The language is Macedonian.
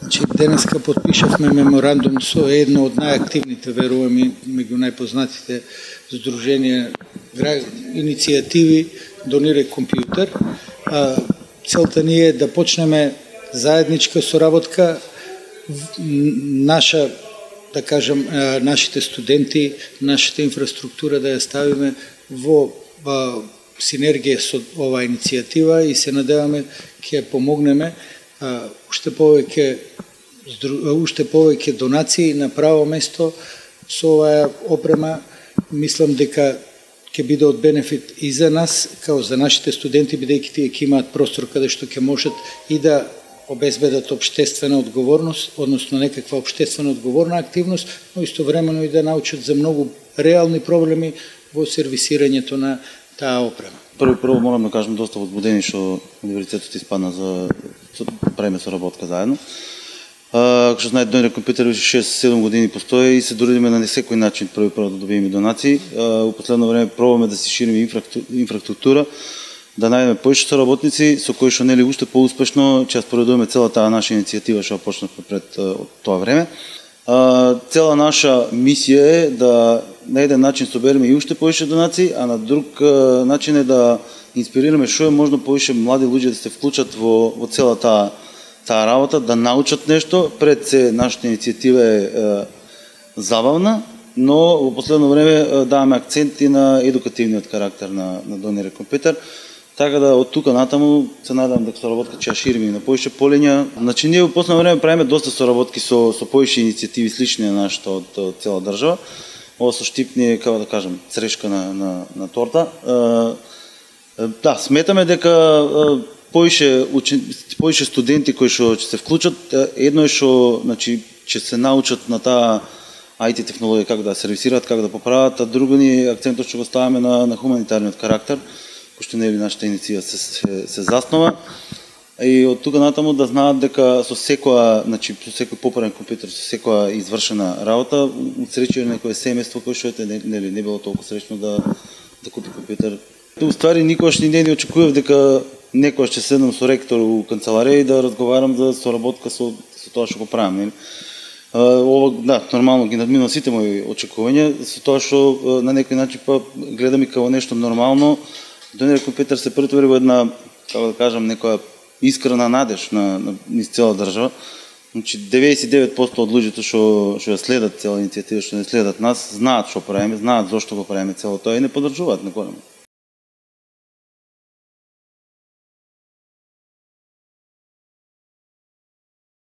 Значи, денеска подпишавме меморандум со едно од најактивните, верувам и меѓу најпознатите здруженија иницијативи Донирај компјутер. Целта ни е да почнеме заедничка соработка, наша, да кажам, нашите студенти, нашата инфраструктура да ја ставиме во синергија со оваа иницијатива и се надеваме ќе ја помогнеме уште повеќе донации на право место со оваа опрема. Мислам дека ќе биде од бенефит и за нас, као за нашите студенти, бидејќи тие ќе имаат простор каде што ќе можат и да обезбедат општествена одговорност, односно некаква општествено одговорна активност, но истовремено и да научат за многу реални проблеми во сервисирањето на таа опрема. Прво морам да кажем доста возбудени што универзитетот испадна за правиме соработка заедно. Како што знаете, Донирај компјутер 6-7 години постои и се трудиме на секој начин прво да добиеме донации. У последно време пробаме да си шириме инфраструктура, да најдеме повеќе соработници со кои што нели уште поуспешно ќе ја спроведуваме цела таа наша иницијатива што почнавме пред тоа време. Цела наша мисија е да на еден начин собереме и уште повеќе донации, а на друг начин е да инспирираме што е можно повеќе млади луѓе да се вклучат во цела таа работа, да научат нешто. Пред се нашата иницијатива е забавна, но во последно време даваме акцент и на едукативниот карактер на Донирај компјутер. Така да од тука натаму се надевам дека соработка ќе ја шириме и на повеќе полиња. Значи ние во последно време правиме доста соработки со повеќе иницијативи слични на нашата од цела држава. Ова со Штип ни е, како да кажам, црешка на торта. Да, сметаме дека повеќе студенти кои што ќе се вклучат, едно е што, значи, ќе се научат на таа IT технологија како да сервисираат, како да поправат, а друго ни акцентот што го ставаме на хуманитарниот карактер, кој што нели нашата иницијатива се заснова. И од тука натаму да знаат дека со секоја, значи со секој поправен компјутер, со секоја извршена работа, усреќува некое семејство кој што нели не било толку среќно да купи компјутер. Уствари никогаш не очекував дека некојаш ќе седнам со ректор у канцеларија и да разговарам за соработка со тоа што го правам, нели. Ова, да, нормално ги надминува сите мои очекувања, со тоа што на некој начин па гледам и како нешто нормално. Донирај компјутер се претвори во една, како да кажам, некоја искрена надеж на цела држава. Значи 99% од луѓето што ја следат цела иницијатива, што не следат нас, знаат што правиме, знаат зошто го правиме цело тоа и не поддржуваат на големо.